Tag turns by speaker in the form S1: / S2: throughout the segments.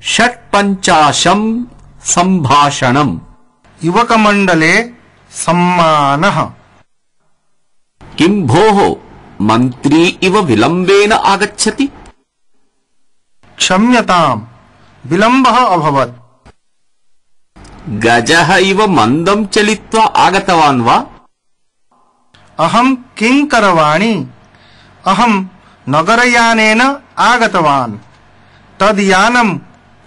S1: षट्पञ्चाशं सम्भाषणम्
S2: युवकमण्डले सम्मानः।
S1: किं भोः मन्त्री इव विलम्बेन आगच्छति?
S2: क्षम्यताम्, विलम्बः अभवत्।
S1: गजः इव मन्दं चलित्वा आगतवान् वा?
S2: अहं किं करवाणि? अहं नगरयानेन आगतवान्। तद् यानं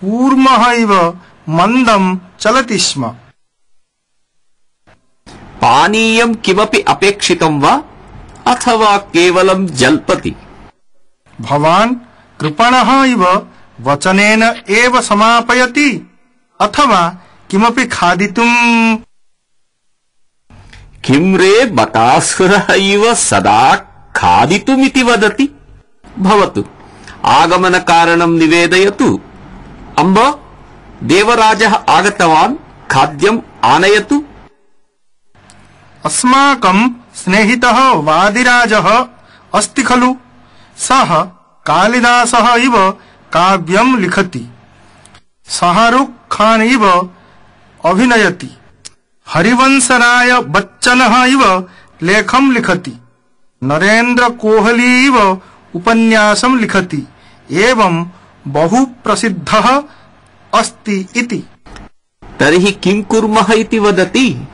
S2: कूर्मः इव मन्दं चलति स्म।
S1: पानीयं किमपि अपेक्षितं वा अथवा केवलं जल्पति?
S2: भवान् कृपणः इव वचनेन एव समापयति अथवा किमपि खादितुम्?
S1: किं रे बकासुरः इव सदा खादितुमिति वदति? भवतु, आगमनकारणं निवेदयतु। अम्ब, देवराजः आगतवान्, खाद्यम् आनयतु।
S2: अस्माकं स्नेहितः वादिराजः अस्ति खलु? सः कालिदासः इव काव्यं लिखति, शाहरुख खान इव अभिनयति, हरिवंशराय बच्चनः इव लेखं लिखति, नरेन्द्र कोहली इव उपन्यासं लिखति, एवं बहु प्रसिद्धः अस्ति इति।
S1: तर्हि किं कुर्मः इति वदति?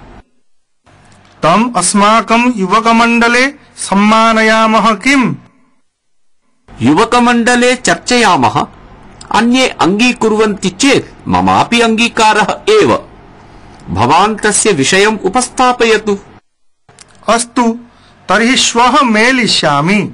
S2: तम् अस्माकं युवकमण्डले सम्मानयामः किम्?
S1: युवकमण्डले चर्चयामः। अन्ये अङ्गीकुर्वन्ति चेत् ममापि अङ्गीकारः एव। भवान् तस्य विषयम् उपस्थापयतु।
S2: अस्तु, तर्हि श्वः मेलिष्यामि।